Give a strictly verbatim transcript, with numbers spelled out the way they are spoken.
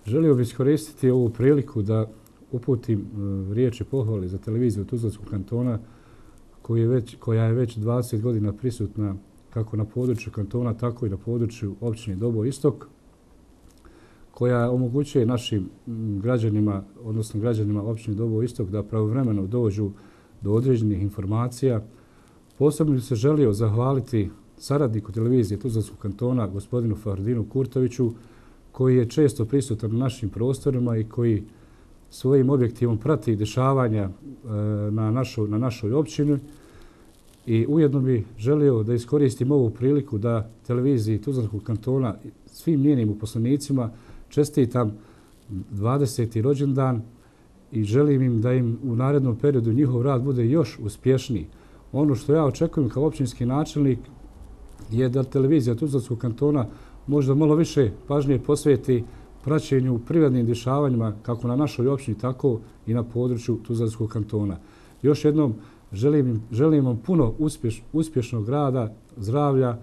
Želio bih iskoristiti ovu priliku da uputim riječi pohvale za televiziju Tuzlanskog kantona koji je već, koja je već dvadeset godina prisutna kako na području kantona, tako i na području općine Doboj Istok, koja omogućuje našim građanima, odnosno građanima općine Doboj Istok da pravovremeno dođu do određenih informacija. Posebno bih se želio zahvaliti saradniku televizije Tuzlanskog kantona, gospodinu Fahrdinu Kurtoviću, koji je često prisutan na našim prostorima i koji svojim objektivom prati dešavanja na našoj, na našoj općini. I ujedno bih želio da iskoristim ovu priliku da televiziji Tuzlanskog kantona svim njenim uposlenicima čestitam dvadeseti rođendan i želim im da im u narednom periodu njihov rad bude još uspješniji. Ono što ja očekujem kao općinski načelnik je da televizija Tuzlanskog kantona možda malo više pažnje posveti praćenju privrednim dešavanjima kako na našoj općini, tako i na području Tuzlanskog kantona. Još jednom želim, želim vam puno uspješ, uspješnog rada, zdravlja,